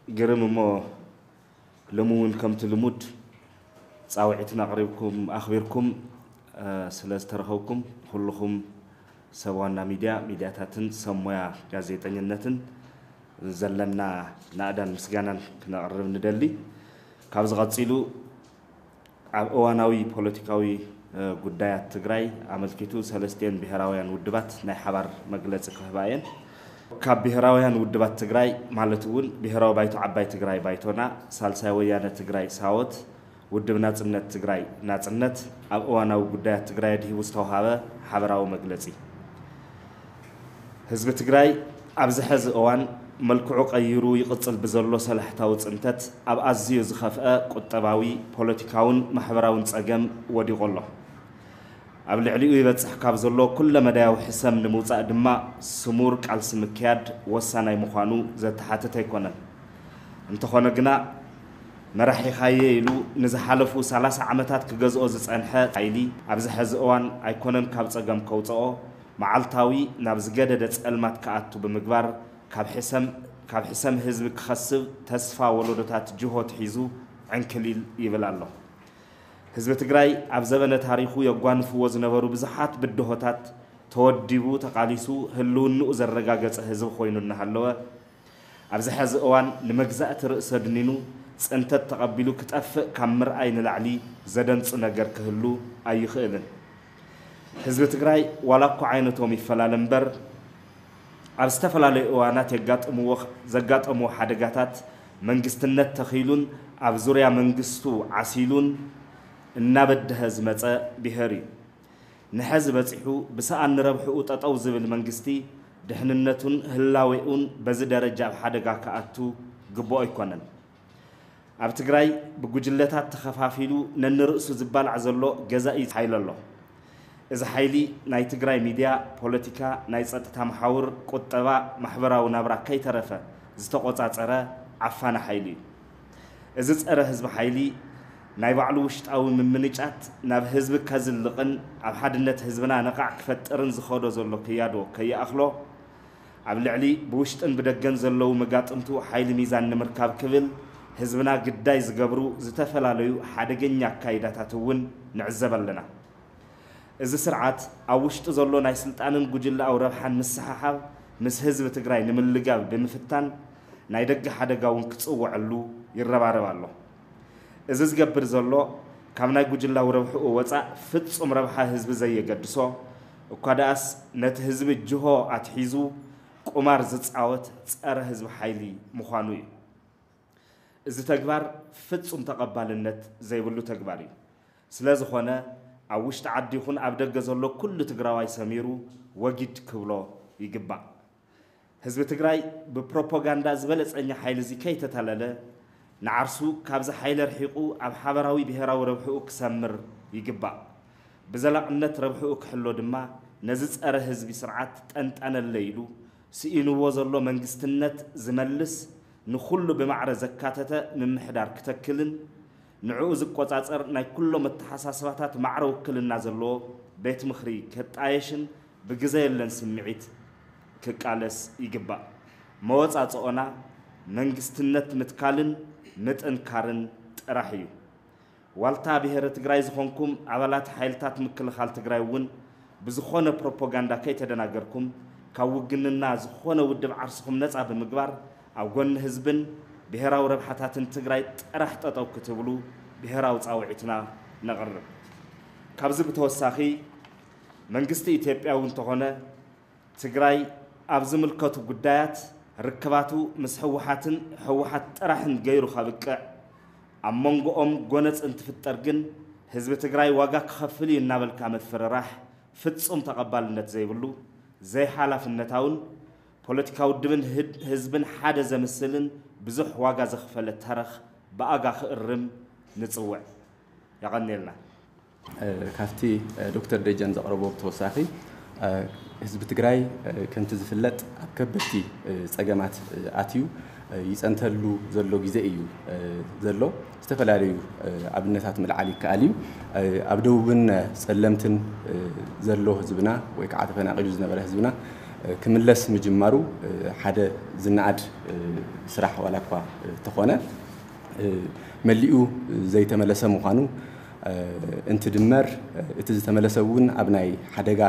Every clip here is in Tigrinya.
ግርም እሞ ሎሚ እውን ከምቲ ልሙድ ጻውዒትና ኣቕሪብኩም ኣኽቢርኩም ስለ ዝተረኸብኩም ኩልኹም ሰብ ዋና ሚድያ፣ ሚድያታትን ሰብ ሞያ ጋዜጠኝነትን ዘለና ናእዳን ምስጋናን ክነቕርብ ንደሊ። ካብዚ ቀጺሉ ኣብ እዋናዊ ፖለቲካዊ ጉዳያት ትግራይ ኣመልኪቱ ሰለስቲኤን ብሄራውያን ውድባት ናይ ሓባር መግለፂ ክህባ እየን። ካብ ብሄራውያን ውድባት ትግራይ ማለት እውን ብሄራዊ ባይቶ ዓባይ ትግራይ ባይቶና፣ ሳልሳይ ወያነ ትግራይ ሳወት፣ ውድብ ናፅነት ትግራይ ናፅነት ኣብ እዋናዊ ጉዳያት ትግራይ ኣድሂቡ ዝተውሃበ ሓበራዊ መግለፂ። ህዝቢ ትግራይ ኣብዚ ሐዚ እዋን መልክዑ ቀይሩ ይቕፅል ብዘሎ ሰላሕታዊ ፅንተት ኣብ ኣዝዩ ዝኸፍአ ቁጠባዊ፣ ፖለቲካውን ማሕበራውን ፀገም ወዲቑ ኣሎ። ኣብ ልዕሊኡ ይበፅሕ ካብ ዘሎ ኩለመዳያዊ ሕሰም ንምውፃእ ድማ ስሙር ቃልሲ ምክያድ ወሳናይ ምዃኑ ዘተሓትት ኣይኮነን። እንተኾነ ግና መራሒኻየ ኢሉ ንዝሓለፉ ሰላሳ ዓመታት ክገዝኦ ዝፀንሐ ሓይሊ ኣብዚ ሐዚ እዋን ኣይኮነን ካብ ፀገም ከውፅኦ፣ መዓልታዊ ናብ ዝገደደ ጸልማት ክኣቱ ብምግባር ካብ ሕሰም ህዝቢ ክኸስብ ተስፋ ወለዶታት ጅሆ ትሒዙ ዕንክሊል ይብል ኣሎ። ህዝቢ ትግራይ ኣብ ዘበነ ታሪኹ የጓንፍዎ ዝነበሩ ብዙሓት ብድሆታት ተወዲቡ ተቓሊሱ ህልውንኡ ዘረጋገጸ ህዝቢ ኮይኑ እናሃለወ ኣብዚ ሐዚ እዋን ንመግዛእቲ ርእሰ ድኒኑ ፅንተት ተቐቢሉ ክጠፍእ ካብ ምርኣይ ንላዕሊ ዘደንጹ ነገር ክህሉ ኣይኽእልን። ህዝቢ ትግራይ ዋላ እኳ ዓይነቶም ይፈላለ እምበር ኣብ ዝተፈላለዩ እዋናት የጋጥምዎ ዘጋጠምዎ ሓደጋታት መንግስትነት ተኺሉን ኣብ ዙርያ መንግስቱ ዓሲሉን እናበደሀ ዝመፀ ብሄር እዩ። ንሐዚ በፂሑ ብሰኣን ንረብሕኡ ጠጠው ዝብል መንግስቲ ድሕንነቱን ህላዌኡን በዚ ደረጃ ኣብ ሓደጋ ክኣቱ ግቡኦ ኣይኮነን። ኣብ ትግራይ ብጉጅለታት ተኸፋፊሉ ነንርእሱ ዝባላዕ ዘሎ ገዛኢ ሓይሊ ኣሎ። እዚ ሓይሊ ናይ ትግራይ ሚድያ፣ ፖለቲካ፣ ናይ ፀጥታ መሓውር፣ ቁጠባ፣ ማሕበራዊ ናብራ ከይተረፈ ዝተቆፃፀረ ዓፋኒ ሓይሊ እዩ። እዚ ፀረ ህዝቢ ሓይሊ ናይ ባዕሉ ውሽጣዊ ምምንጫት ናብ ህዝቢ ከዝልቕን ኣብ ሓድነት ህዝብና ነቓዕ ክፈጥርን ዝኸዶ ዘሎ ክያዶ ከይኣኽሎ ኣብ ልዕሊ ብውሽጥን ብደገን ዘለዉ መጋጥምቱ ሓይሊ ሚዛን ንምርካብ ክብል ህዝብና ግዳይ ዝገብሩ ዝተፈላለዩ ሓደገኛ ኣካይዳታት እውን ንዕዘብ ኣለና። እዚ ስርዓት ኣብ ውሽጡ ዘሎ ናይ ስልጣንን ጉጅለኣዊ ረብሓን ምስሕሓብ ምስ ህዝቢ ትግራይ ንምልጋብ ብምፍታን ናይ ደገ ሓደጋ እውን ክፅወዐሉ ይረባረብ ኣሎ። እዚ ዝገብር ዘሎ ካብ ናይ ጉጅላዊ ረብሕኡ ወፃእ ፍፁም ረብሓ ህዝቢ ዘየገድሶ እኳ ደኣስ ነቲ ህዝቢ ጅሆ ኣትሒዙ ቁማር ዝፃወት ፀረ ህዝቢ ሓይሊ ምዃኑ እዩ። እዚ ተግባር ፍፁም ተቐባልነት ዘይብሉ ተግባር እዩ። ስለ ዝኾነ ኣብ ውሽጢ ዓዲ ይኹን ኣብ ደገ ዘሎ ኩሉ ትግራዋይ ሰሚሩ ወጊድ ክብሎ ይግባእ። ህዝቢ ትግራይ ብፕሮፓጋንዳ ዝበለፀኛ ሓይሊ እዚ ከይተታለለ ንዓርሱ ካብዚ ሓይሊ ርሒቑ ኣብ ሓበራዊ ብሄራዊ ረብሕኡ ክሰምር ይግባእ። ብዘላቕነት ረብሕኡ ክሕሎ ድማ ነዚ ፀረ ህዝቢ ስርዓት ጠንጠነለይ ኢሉ ስኢንዎ ዘሎ መንግስትነት ዝመልስ ንኹሉ ብማዕረ ዘካተተ ምምሕዳር ክተክልን ንዕኡ ዝቆፃፀር ናይ ኩሎም ኣተሓሳስባታት ማዕረ ውክልና ዘለዎ ቤት ምኽሪ ከጣየሽን ብግዘ የለን ስምዒት ክቃለስ ይግባእ። መወፃፅኦና መንግስትነት ምትካልን ምጥንካርን ጥራሕ እዩ። ዋልታ ብሄረ ትግራይ ዝኾንኩም ኣባላት ሓይልታት ምክልኻል ትግራይ እውን ብዝኾነ ፕሮፓጋንዳ ከይተደናገርኩም ካብ ውግንና ዝኾነ ውድብ ዓርስኹም ነፃ ብምግባር ኣብ ጎኒ ህዝብን ብሄራዊ ረብሓታትን ትግራይ ጥራሕ ጠጠው ክትብሉ ብሄራዊ ፃውዒትና ነቕርብ። ካብዚ ብተወሳኺ መንግስቲ ኢትዮጵያ እውን እንተኾነ ትግራይ ኣብ ዝምልከቱ ጉዳያት ርክባቱ ምስ ህወሓትን ህወሓት ጥራሕን ገይሩ ከብቅዕ ኣብ መንጎኦም ጎነፅ እንትፍጠር ግን ህዝቢ ትግራይ ዋጋ ክኸፍል እዩ እናበልካ ምፍርራሕ ፍፁም ተቐባልነት ዘይብሉ ዘይሓላፍነታውን ፖለቲካ ውድብን ህዝብን ሓደ ዘምስልን ብዙሕ ዋጋ ዘኽፈለ ተረኽ ብኣጋ ክእርም ንፅውዕ። የቐንየልና። ካብቲ ዶክተር ደጀን ዘቕረቦ ብተወሳኺ ህዝቢ ትግራይ ከምቲ ዝፍለጥ ኣብ ከበድቲ ፀገማት ኣትዩ ይፀንተሉ ዘሎ ግዜ እዩ ዘሎ። ዝተፈላለዩ ኣብነታት ምልዓል ይከኣል እዩ። ኣብ ደቡብን ፀለምትን ዘሎ ህዝብና ወይ ከዓ ተፈናቒሉ ዝነበረ ህዝብና ክምለስ ምጅማሩ ሓደ ዝነኣድ ስራሕ ዋላ እኳ ተኾነ፣ መሊኡ ዘይተመለሰ ምዃኑ እንትድመር፣ እቲ ዝተመለሰ እውን ኣብ ናይ ሓደጋ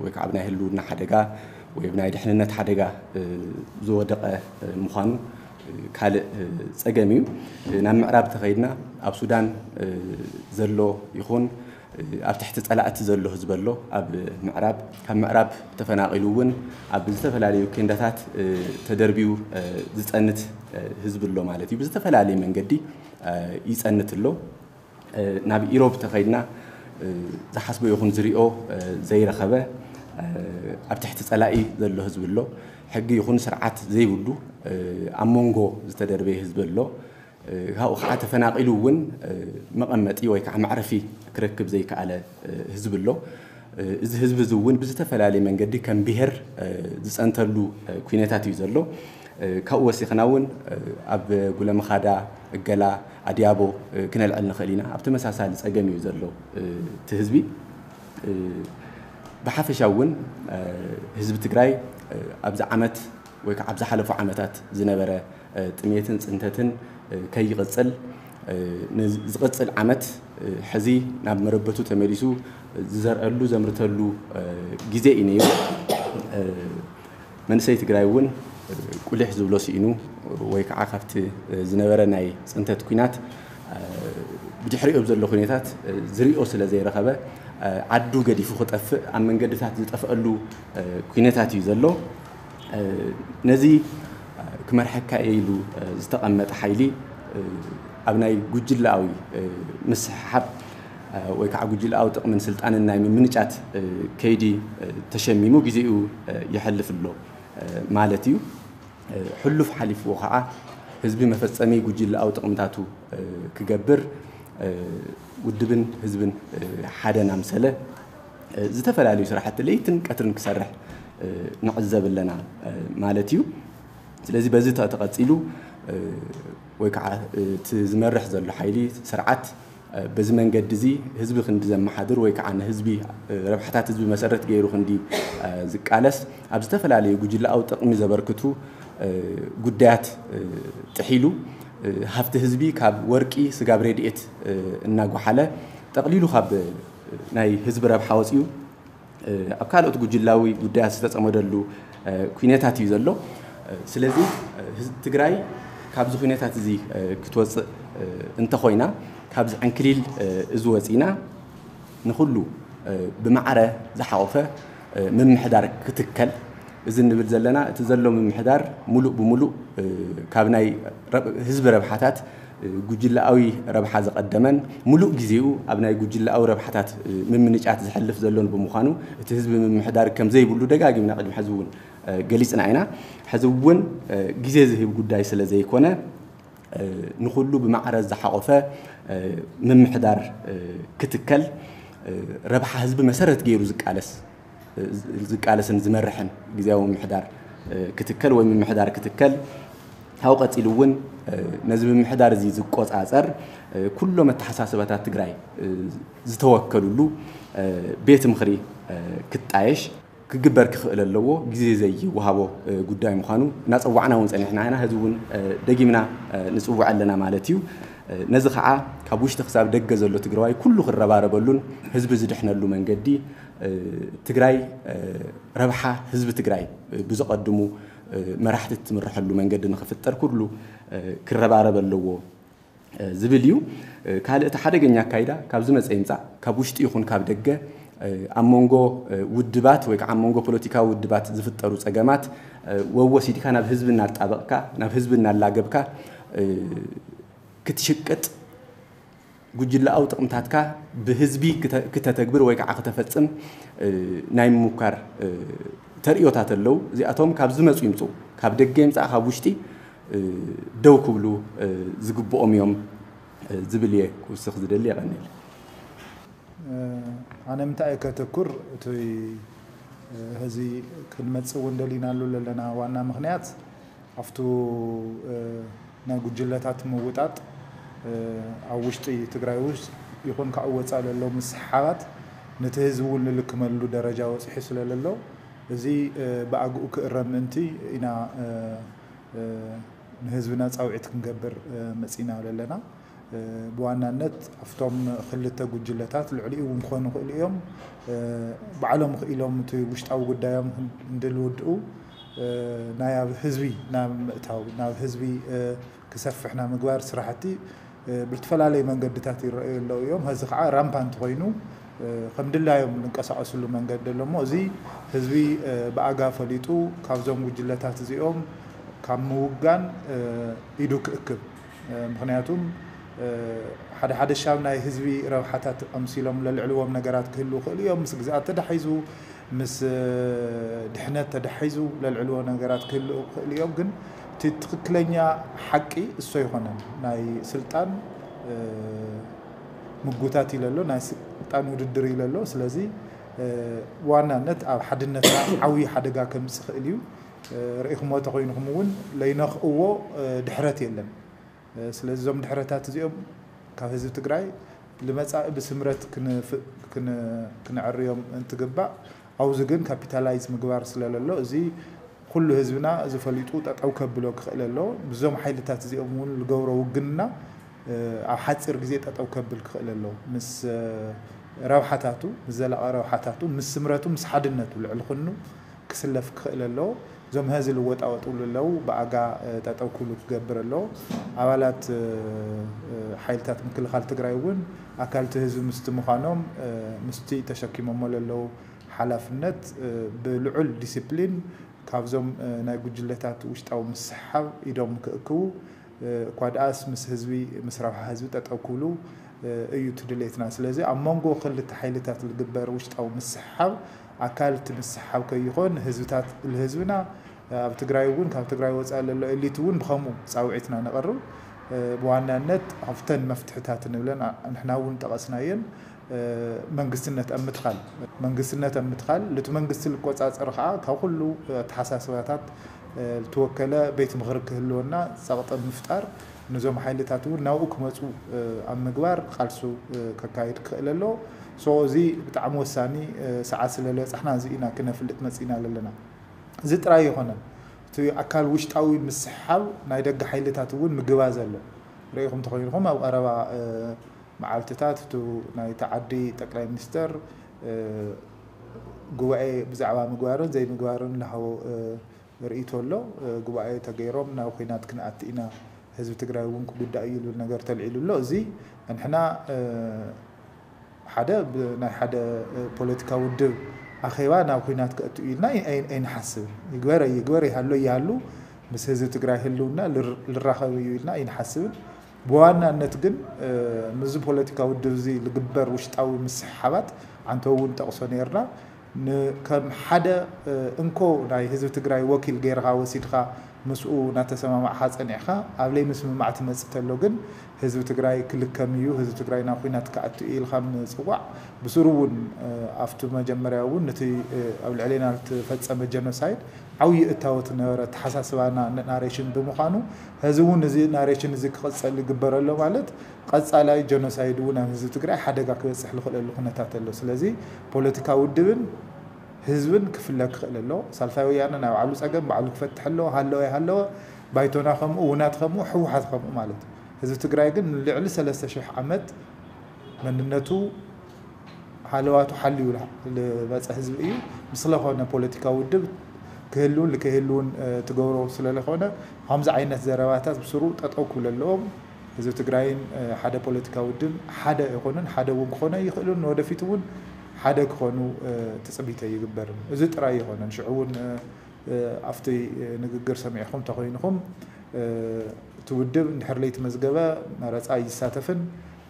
ወይ ከዓ ኣብ ናይ ህልውና ሓደጋ ወይ ኣብ ናይ ድሕንነት ሓደጋ ዝወደቐ ምዃኑ ካልእ ጸገም እዩ። ናብ ምዕራብ ተኸይድና ኣብ ሱዳን ዘሎ ይኹን ኣብ ትሕቲ ጸላእቲ ዘሎ ህዝቢ ኣሎ። ኣብ ምዕራብ፣ ካብ ምዕራብ ተፈናቒሉ እውን ኣብ ዝተፈላለዩ ኬንዳታት ተደርቢዩ ዝጸንት ህዝቢ ኣሎ ማለት እዩ። ብዝተፈላለየ መንገዲ ይጸንት ኣሎ። ናብ ኢሮብ ተኸይድና ዝሓስቦ ይኹን ዝሪኦ ዘይረኸበ ኣብ ትሕቲ ጸላኢ ዘሎ ህዝቢ ኣሎ። ሕጊ ይኹን ስርዓት ዘይብሉ ኣብ መንጎ ዝተደርበየ ህዝቢ ኣሎ። ካብኡ ከዓ ተፈናቒሉ እውን መቐመጢ ወይ ከዓ መዕረፊ ክረክብ ዘይከኣለ ህዝቢ ኣሎ። እዚ ህዝቢ እዚ እውን ብዝተፈላለየ መንገዲ ከም ብሄር ዝፀንተሉ ኩነታት እዩ ዘሎ። ካብኡ ወሲኽና እውን ኣብ ጉለምኻዳ፣ እገላ፣ ኣድያቦ ክነልዕል ንኽእል ኢና። ኣብ ተመሳሳሊ ፀገም እዩ ዘሎ እቲ ህዝቢ። ብሓፈሻ እውን ህዝቢ ትግራይ ኣብዚ ዓመት ወይ ከዓ ኣብ ዝሓለፉ ዓመታት ዝነበረ ጥሜትን ፅንተትን ከይቕፅል፣ ንዝቕፅል ዓመት ሕዚ ናብ መረበቱ ተመሊሱ ዝዘርአሉ ዘምርተሉ ግዜ እዩ ነይሩ። መንእሰይ ትግራይ እውን ቁሊሕ ዝብሎ ስኢኑ ወይ ከዓ ካብቲ ዝነበረ ናይ ፅንተት ኲናት ብድሕሪኡ ኣብ ዘሎ ኩነታት ዝሪኦ ስለ ዘይረኸበ ዓዱ ገዲፉ ክጠፍእ ኣብ መንገድታት ዝጠፍአሉ ኩነታት እዩ ዘሎ። ነዚ ክመርሐካ እየ ኢሉ ዝተቐመጠ ሓይሊ ኣብ ናይ ጉጅለኣዊ ምስሕሓብ ወይ ከዓ ጉጅለኣዊ ጥቕምን ስልጣንን ናይ ምምንጫት ከይዲ ተሸሚሙ ግዜኡ የሕልፍ ኣሎ ማለት እዩ። ሕሉፍ ሓሊፍዎ ከዓ ህዝቢ መፈፀሚ ጉጅለኣዊ ጥቕምታቱ ክገብር ውድብን ህዝብን ሓደ ናምሰለ ዝተፈላለዩ ስራሕቲ ለይትን ቀትርን ክሰርሕ ንዕዘብ ኣለና ማለት እዩ። ስለዚ በዚ ተቐፂሉ ወይ ከዓ እቲ ዝመርሕ ዘሎ ሓይሊ ስርዓት በዚ መንገዲ እዚ ህዝቢ ክንዲ ዘመሓድር ወይ ከዓ ንህዝቢ ረብሓታት ህዝቢ መሰረት ገይሩ ክንዲ ዝቃለስ ኣብ ዝተፈላለዩ ጉጅለኣዊ ጥቕሚ ዘበርክቱ ጉዳያት ጥሒሉ ሃፍቲ ህዝቢ ካብ ወርቂ ስጋብ ሬድኤት እናጓሓለ ጠቕሊሉ ካብ ናይ ህዝቢ ረብሓ ወፂኡ ኣብ ካልኦት ጉጅላዊ ጉዳያት ዝተፀመደሉ ኩነታት እዩ ዘሎ። ስለዚ ትግራይ ካብዚ ኩነታት እዚ ክትወፅእ እንተኾይና ካብዚ ዕንክሊል እዚ ወፂና ንኹሉ ብማዕረ ዝሓቆፈ ምምሕዳር ክትከል። እዚ እንብል ዘለና እቲ ዘሎ ምምሕዳር ሙሉእ ብሙሉእ ካብ ናይ ህዝቢ ረብሓታት ጉጅለኣዊ ረብሓ ዝቐደመን ሙሉእ ግዜኡ ኣብ ናይ ጉጅለኣዊ ረብሓታት ምምንጫት ዝሕልፍ ዘሎን ብምዃኑ እቲ ህዝቢ ምምሕዳር ከም ዘይብሉ ደጋጊምና ቅድሚ ሕዚ እውን ገሊፅና ኢና። ሕዚ እውን ግዜ ዝህብ ጉዳይ ስለ ዘይኮነ ንኹሉ ብማዕረ ዝሓቆፈ ምምሕዳር ክትከል ረብሓ ህዝቢ መሰረት ገይሩ ዝቃለስ ዝቃለስን ዝመርሕን ግዜያዊ ምምሕዳር ክትከል ወይ ምምሕዳር ክትከል ካብኡ ቀፂሉ እውን ነዚ ምምሕዳር እዚ ዝቆፃፀር ኩሎም ኣተሓሳስባታት ትግራይ ዝተወከሉሉ ቤት ምኽሪ ክጣየሽ ክግበር ክኽእል ኣለዎ። ግዜ ዘይወሃቦ ጉዳይ ምዃኑ እናፀዋዕና እውን ፀኒሕና ኢና። ሕዚ እውን ደጊምና ንፅውዕ ኣለና ማለት እዩ። ነዚ ከዓ ካብ ውሽጢ ክሳብ ደገ ዘሎ ትግራዋይ ኩሉ ክረባረበሉን ህዝቢ ዝድሕነሉ መንገዲ ትግራይ ረብሓ ህዝቢ ትግራይ ብዘቐድሙ መራሕቲ እትምርሐሉ መንገዲ ንኽፍጠር ኩሉ ክረባረብ ኣለዎ ዝብል እዩ። ካልእ እቲ ሓደገኛ ኣካይዳ ካብ ዝመፀ ይምፃእ ካብ ውሽጢ ይኹን ካብ ደገ ኣብ መንጎ ውድባት ወይ ከዓ ኣብ መንጎ ፖለቲካዊ ውድባት ዝፍጠሩ ፀገማት ወወሲድካ ናብ ህዝቢ እናጣበቕካ ናብ ህዝቢ እናላገብካ ክትሽቅጥ ጉጅለኣዊ ጥቕምታትካ ብህዝቢ ክተተግብር ወይ ከዓ ክተፈፅም ናይ ምሙካር ተርእዮታት ኣለዉ። እዚኣቶም ካብ ዝመፁ ይምፁ ካብ ደገ ይምፃእ ካብ ውሽጢ ደው ክብሉ ዝግብኦም እዮም ዝብል እየ ክውስኽ ዝደሊ። የቐንየል። ኣነ ምንታይ እየ ከተኩር እቲ ሕዚ ክንመፅእ እውን ደሊናሉ ዘለና ዋና ምኽንያት ኣብቱ ናይ ጉጅለታት ምውጣጥ ኣብ ውሽጢ ትግራይ ውስጥ ይኹን ካብ ወፃእ ለሎ ምስሓባት ነቲ ህዝቢ እውን ልልክመሉ ደረጃ ወፂሑ ስለለሎ እዚ ብኣግኡ ክእረም ምእንቲ ኢና ንህዝብና ፃውዒት ክንገብር መፂና ዘለና። ብዋናነት ኣብቶም ክልተ ጉጅለታት ልዕሊኡ እውን ክኾኑ ይኽእሉ እዮም። ባዕሎም ክኢሎም እቲ ውሽጣዊ ጉዳዮም እንድልውድኡ ናይ ኣብ ህዝቢ ናብ ምእታው ናብ ህዝቢ ክሰፍሕ ናብ ምግባር ስራሕቲ ብልትፈላለዩ መንገድታት ይረኣዩ ኣለዉ እዮም። እዚ ከዓ ራምፓንት ኮይኑ ከም ድላዮም ዝንቀሳቀስሉ መንገዲ ኣሎ እሞ እዚ ህዝቢ ብኣጋ ፈሊጡ ካብዞም ጉጅለታት እዚኦም ካብ ምውጋን ኢዱ ክእክብ። ምክንያቱም ሓደ ሓደ ሻብ ናይ ህዝቢ ረብሓታት ኣምሲሎም ለልዕልዎም ነገራት ክህልዉ ይኽእሉ እዮም። ምስ ግዝኣት ተዳሒዙ ምስ ድሕነት ተዳሒዙ ለልዕልዎ ነገራት ክህልዉ ይኽእሉ እዮም። ግን እቲ ትኽክለኛ ሓቂ እሱ ኣይኮነን። ናይ ስልጣን ምጉታት ኢለ ኣሎ፣ ናይ ስልጣን ውድድር ኢለ ኣሎ። ስለዚ ብዋናነት ኣብ ሓድነትና ዓብዪ ሓደጋ ከምፅእ ይኽእል እዩ። ርኢኹሞ ተኾይንኹም እውን ለይነኽእዎ ድሕረት የለን። ስለዚ እዞም ድሕረታት እዚኦም ካብ ህዝቢ ትግራይ ልመፃኢ ብስምረት ክንዕርዮም እንትግባእ ኣብዚ ግን ካፒታላይዝ ምግባር ስለለሎ እዚ ኩሉ ህዝብና እዚ ፈሊጡ ጠጠው ከብሎ ክኽእል ኣለዎ። ብዞም ሓይልታት እዚኦም እውን ዝገብሮ ውግንና ኣብ ሓፂር ግዜ ጠጠው ከብል ክኽእል ኣለዎ። ምስ ረብሓታቱ ምስ ዘላቐ ረብሓታቱ ምስ ስምረቱ ምስ ሓድነቱ ልዕሊ ኩኑ ክስለፍ ክኽእል ኣለዎ። እዞም ሀዚ ልወጣወጥሉ ኣለዉ ብኣጋ ጠጠው ክብሉ ክገብር ኣለዎ። ኣባላት ሓይልታት ምክልኻል ትግራይ እውን ኣካልቲ ህዝቢ ምስቲ ምዃኖም ምስቲ ተሸኪሞሞ ለለዉ ሓላፍነት ብልዑል ዲሲፕሊን ካብዞም ናይ ጉጅለታት ውሽጣዊ ምስሓብ ኢዶም ክእክቡ እኳ ደኣስ ምስ ህዝቢ ምስ ረብሓ ህዝቢ ጠጠው ክብሉ እዩ እቲ ድሌትና። ስለዚ ኣብ መንጎ ክልተ ሓይልታት ዝግበር ውሽጣዊ ምስሓብ ኣካል እቲ ምስሓብ ከይኾን ህዝብታት ልህዝብና ኣብ ትግራይ እውን ካብ ትግራይ ወፃኢ ለሎ ኤሊት እውን ብኸምኡ ፃውዒትና ነቐርብ። ብዋናነት ኣብተን መፍትሕታት ንብለን ንሕና እውን ጠቐስናየን መንግስትነት ኣብ ምትኻል መንግስትነት ኣብ ምትኻል ልቲ መንግስቲ ልቆፃፀር ከዓ ካብ ኩሉ ኣተሓሳስባታት ልተወከለ ቤት ምኽሪ ክህልወና ፀቕጢ ምፍጣር ነዞም ሓይልታት እውን ናብኡ ክመፁ ኣብ ምግባር ቃልሱ ከካይድ ክኽእል ኣለዎ። ሶ እዚ ብጣዕሚ ወሳኒ ሰዓት ስለለበፃሕና እዚ ኢና ክነፍልጥ መፂና ዘለና። እዚ ጥራይ ኣይኮነን። እቲ ኣካል ውሽጣዊ ምስሓብ ናይ ደገ ሓይልታት እውን ምግባዝ ኣሎ። ርኢኹም ተኾይንኹም ኣብ ቀረባ መዓልትታት እቲ ናይ ተዓዲ ጠቅላይ ሚኒስተር ጉባኤ ብዛዕባ ምግባርን ዘይምግባርን ዝሃቦ ርእይቶ ኣሎ። ጉባኤ ተገይሮም ናብ ኹናት ክንኣቲ ኢና፣ ህዝቢ ትግራይ እውን ክጉዳእ እዩ ዝብል ነገር ተልዒሉ ኣሎ። እዚ ንሕና ሓደ ናይ ሓደ ፖለቲካ ውድብ ኣኼባ ናብ ኹናት ከእቱ ኢልና ኣይንሓስብን። ይግበር ይግበር ይሃሎ ይሃሉ ምስ ህዝቢ ትግራይ ህልውና ልራኸብ እዩ ኢልና ኣይንሓስብን። ብዋናነት ግን ምስዚ ፖለቲካ ውድብ እዚ ልግበር ውሽጣዊ ምስሕሓባት ዓንተ እውን ጠቕሶ ነርና። ከም ሓደ እንኮ ናይ ህዝቢ ትግራይ ወኪል ገይርኻ ወሲድኻ ምስኡ እናተሰማማዕኻ ፀኒዕኻ ኣብ ለይምስምማዕ ትመፅእ ተሎ ግን ህዝቢ ትግራይ ክልከም እዩ፣ ህዝቢ ትግራይ ናብ ኹናት ክኣቱ እዩ ኢልካ ምፅዋዕ ብስሩ እውን ኣብቲ መጀመርያ እውን ነቲ ኣብ ልዕሌና ዝተፈፀመ ጀኖሳይድ ዓብዪ እታወት ነበረ ተሓሳስባና ናሬሽን ብምዃኑ ሕዚ እውን እዚ ናሬሽን እዚ ክቕፀል ይግበረሎ ማለት ቀፃላይ ጀኖሳይድ እውን ኣብ ህዝቢ ትግራይ ሓደጋ ክበፅሕ ዝኽእለሉ ኩነታት ኣሎ። ስለዚ ፖለቲካ ውድብን ህዝብን ክፍለ ክኽእል ኣሎ። ሳልሳይ ወያነ ናይ ባዕሉ ፀገም ባዕሉ ክፈትሕ ኣለዎ፣ ሃለወ ይሃለወ ባይቶና ከምኡ ውናት ከምኡ ህወሓት ከምኡ ማለት እዩ። ህዝቢ ትግራይ ግን ንልዕሊ ሰለስተ ሽሕ ዓመት መንነቱ ሃለዋቱ ሓልዩ ዝመፀ ህዝቢ እዩ። ምስለኾነ ፖለቲካዊ ውድብ ክህልውን ልከይህልውን ትገብሮ ስለለኾነ ከምዚ ዓይነት ዘረባታት ብስሩ ጠጠው ክብሉ ኣለዎም። ህዝቢ ትግራይን ሓደ ፖለቲካዊ ውድብ ሓደ ኣይኮኑን፣ ሓደ እውን ክኾኑ ኣይኽእሉን፣ ንወደፊት እውን ሓደ ክኾኑ ትፅቢት ኣይግበርን። እዚ ጥራይ ኣይኮነን። ሽዑ እውን ኣብቲ ንግግር ሰሚዕኹም ተኾይንኹም እቲ ውድብ እንድሕር ለይተመዝገበ መረፃ ኣይሳተፍን፣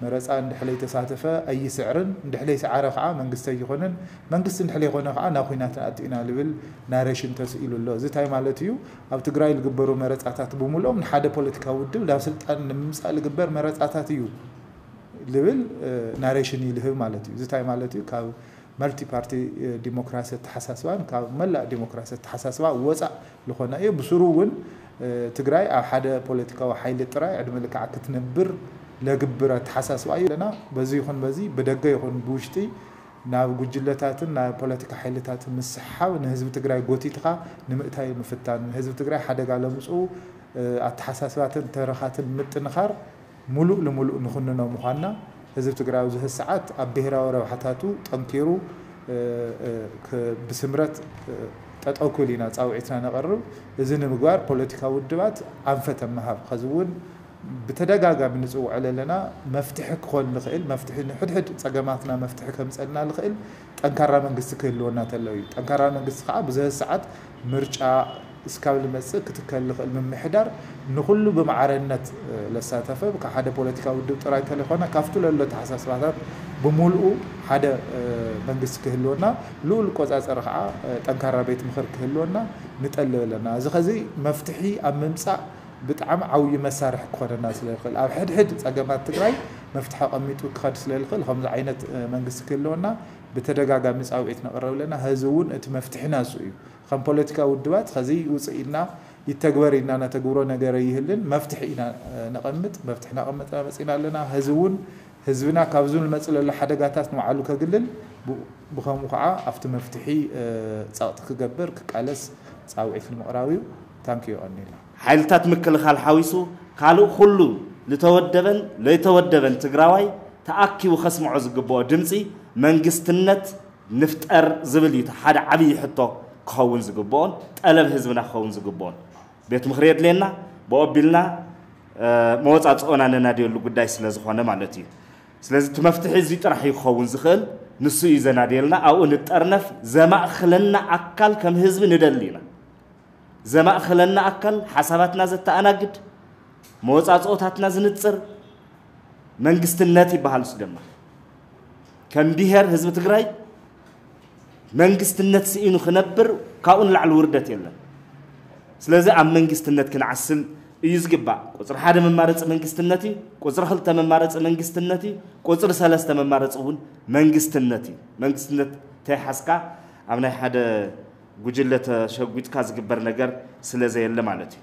መረፃ እንድሕር ለይተሳተፈ ኣይስዕርን፣ እንድሕር ለይሰዓረ ከዓ መንግስቲ ኣይኾንን፣ መንግስቲ እንድሕር ለይኾነ ከዓ ናብ ኹናት ንኣቱ ኢና ልብል ናሬሽን ተስኢሉ ኣሎ። እዚ እንታይ ማለት እዩ? ኣብ ትግራይ ልግበሩ መረፃታት ብምልኦም ንሓደ ፖለቲካዊ ውድብ ናብ ስልጣን ንምምፃእ ልግበር መረፃታት እዩ ልብል ናሬሽን እዩ ልህብ ማለት እዩ። እዚ እንታይ ማለት እዩ? ካብ መልቲ ፓርቲ ዲሞክራሲ ኣተሓሳስባን ካብ መላእ ዲሞክራሲ ኣተሓሳስባ ወፃእ ዝኾነ እዩ። ብስሩ እውን ትግራይ ኣብ ሓደ ፖለቲካዊ ሓይሊ ጥራይ ዕድመ ልክዓ ክትነብር ለግብር ኣተሓሳስባ እዩ ኣለና። በዚ ይኹን በዚ ብደገ ይኹን ብውሽጢ ናብ ጉጅለታትን ናብ ፖለቲካ ሓይልታትን ምስሓብ ንህዝቢ ትግራይ ጎቲትኻ ንምእታይ ምፍታን፣ ንህዝቢ ትግራይ ሓደጋ ለምፅኡ ኣተሓሳስባትን ተረኻትን ምጥንኻር ሙሉእ ንሙሉእ ንኹንኖ ምዃንና፣ ህዝቢ ትግራይ ኣብዚ ሰዓት ኣብ ብሄራዊ ረብሓታቱ ጠንኪሩ ብስምረት ጠጠው ክብል ኢና ፃውዒትና ነቐርብ። እዚ ንምግባር ፖለቲካዊ ውድባት ኣንፈት ኣመሃብ ኸዚ እውን ብተደጋጋሚ ንፅውዐሉ ኣለና። መፍትሒ ክኾን ዝኽእል መፍትሒ፣ ንሕድሕድ ፀገማትና መፍትሒ ከምፀልና ዝኽእል ጠንካራ መንግስቲ ክህልወና ተሎ እዩ። ጠንካራ መንግስቲ ከዓ ብዝህ ሰዓት ምርጫ እስካብ ዝመፅእ ክትከል ዝኽእል ምምሕዳር ንኹሉ ብማዕረነት ለሳተፈ ካብ ሓደ ፖለቲካዊ ውድብ ጥራይ ተለይኮነ ካብቲ ለሎ ተሓሳስባታት ብምልኡ ሓደ መንግስቲ ክህልወና፣ ልኡል ቆፃፀሪ ከዓ ጠንካራ ቤት ምኽር ክህልወና ንጠልብ ኣለና። እዚ ኸዚ መፍትሒ ኣብ ምምፃእ ብጣዕሚ ዓብዪ መሳርሒ ክኾነና ስለ ዝኽእል፣ ኣብ ሕድሕድ ፀገማት ትግራይ መፍትሒ ኣቐሚጡ ክኸድ ስለ ዝኽእል፣ ከምዚ ዓይነት መንግስቲ ክህልወና ብተደጋጋሚ ፃውዒት ነቕረብ ኣለና። ህዚ እውን እቲ መፍትሒ ናሱ እዩ። ከም ፖለቲካ ውድባት ኸዚ ውፅእ ኢልና ይተግበር ኢልና ነተግብሮ ነገር ይህልን መፍትሒ ኢና ነቐምጥ። መፍትሒ ናቐምጥና መፂና ኣለና። ህዚ እውን ህዝብና ካብዚ ንመፅእ ለሎ ሓደጋታት ንባዕሉ ከግልል፣ ብኸምኡ ከዓ ኣብቲ መፍትሒ ፀቕጢ ክገብር ክቃለስ ፃውዒት ንምቕራብ እዩ። ታንኪዩ ቀኒልና። ሓይልታት ምክልኻል ሓዊሱ ካልእ ኩሉ ዝተወደበን ለይተወደበን ትግራዋይ ተኣኪቡ ከስምዖ ዝግብኦ ድምፂ መንግስትነት ንፍጠር ዝብል እዩ። ሓደ ዓብዪ ሕቶ ክኸውን ዝግብኦን ጠለብ ህዝብና ክኸውን ዝግብኦን ቤት ምኽሪ የድልየና ብኦቢልና መወፃፅኦ ነናድየሉ ጉዳይ ስለ ዝኾነ ማለት እዩ። ስለዚ እቲ መፍትሒ እዚ ጥራሕ እዩ ክኸውን ዝኽእል። ንሱ እዩ ዘናድየልና። ኣብኡ ንጠርነፍ። ዘማእኽለና ኣካል ከም ህዝቢ ንደሊ ኢና። ዘማእኽለና ኣካል ሓሳባትና ዘተኣናግድ፣ መወፃፅኦታትና ዝንፅር መንግስትነት ይበሃል። እሱ ድማ ከም ብሄር ህዝቢ ትግራይ መንግስትነት ስኢኑ ክነብር ካብኡ ንላዕሊ ውርደት የለን። ስለዚ ኣብ መንግስትነት ክንዓስል እዩ ዝግባእ። ቁፅሪ ሓደ መማረፂ መንግስትነት እዩ። ቁፅሪ ክልተ መማረፂ መንግስትነት እዩ። ቁፅሪ ሰለስተ መማረፂ እውን መንግስትነት እዩ። መንግስትነት ተይሓዝካ ኣብ ናይ ሓደ ጉጅለ ተሸጒጥካ ዝግበር ነገር ስለ ዘየለ ማለት እዩ።